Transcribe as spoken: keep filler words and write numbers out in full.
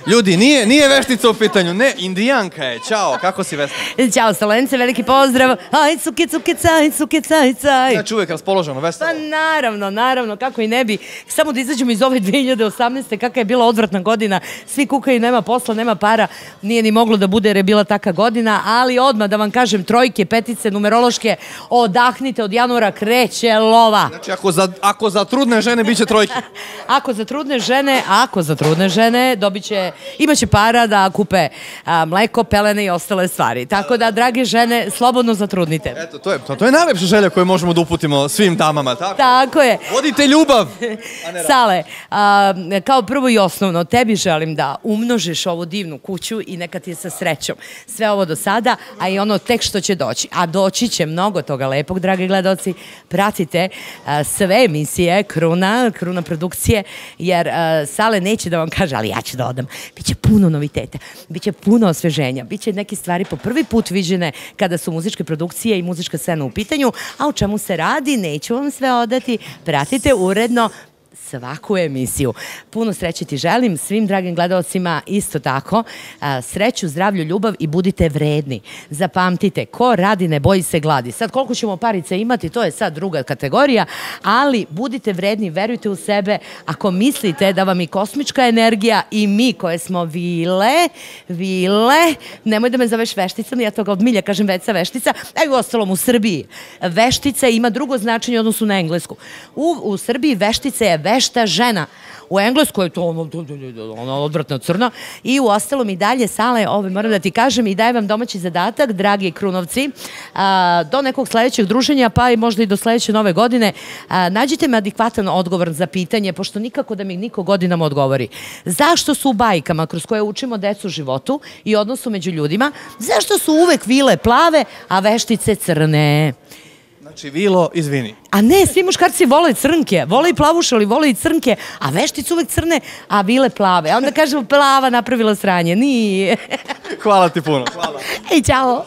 Ljudi, nije, nije veštica u pitanju, ne, indijanka je. Ćao, kako si Vesna? Ćao Salence, veliki pozdrav. Aj, cuke, cuke, caj, cuke, caj, caj. Znači uvijek raspoloženo, veselo. Pa naravno, naravno, kako i ne bi. Samo da izađemo iz ove dve hiljade osamnaeste. Kakva je bila odvratna godina. Svi kukaju, nema posla, nema para. Nije ni moglo da bude jer je bila taka godina, ali odmah da vam kažem, trojke, petice, numerološke, odahnite, od januara kreće lova. Znači, ako za, ako za trudne žene biće trojke. Ako za trudne žene, ako za trudne žene, dobit će, imaće para da kupe a, mleko, pelene i ostale stvari. Tako da, drage žene, slobodno zatrudnite. Eto, to je, to, to je najlepša želja koju možemo da uputimo svim damama, tako? Tako je. Vodite ljubav! Sale, a, kao prvo i osnovno, tebi želim da umnožiš ovu divnu kuću i neka ti je sa srećom. Sve ovo do sada, a i ono tek što će doći. A doći će mnogo toga lepog, dragi gledaoci. Pratite a, sve emisije Kruna, Kruna produkcije, jer a, Sale neće da vam kaže, ali ja ću da odam. Biće puno noviteta, biće puno osveženja, biće neke stvari po prvi put viđene kada su muzičke produkcije i muzička scena u pitanju, a o čemu se radi, neću vam sve odati. Pratite uredno svaku emisiju. Puno sreće ti želim, svim dragim gledalcima isto tako. Sreću, zdravlju, ljubav i budite vredni. Zapamtite, ko radi ne boji se gladi. Sad koliko ćemo parice imati, to je sad druga kategorija, ali budite vredni, verujte u sebe. Ako mislite da vam i kosmička energija i mi koje smo vile, vile, nemoj da me zoveš vešticom, ja toga od milja kažem veca veštica, a i u ostalom u Srbiji. Veštica ima drugo značenje u odnosu na englesku. U, u Srbiji veštica je vešta žena. U engleskoj je to ono, ono odvratno crno. I u ostalom i dalje, Sale, ove moram da ti kažem i dajem vam domaći zadatak, dragi Krunovci, a, do nekog sledećeg druženja, pa i možda i do sledeće nove godine, a, nađite me adekvatan odgovor za pitanje, pošto nikako da mi niko godinama odgovori. Zašto su u bajkama kroz koje učimo decu životu i odnosu među ljudima, zašto su uvek vile plave, a veštice crne? Znači, Vilo, izvini. A ne, svi muškarci vole crnke, vole i plavušali, vole i crnke, a veštice uvek crne, a vile plave. A onda kažemo plava napravila sranje, nije. Hvala ti puno. Hvala. Ej, čao.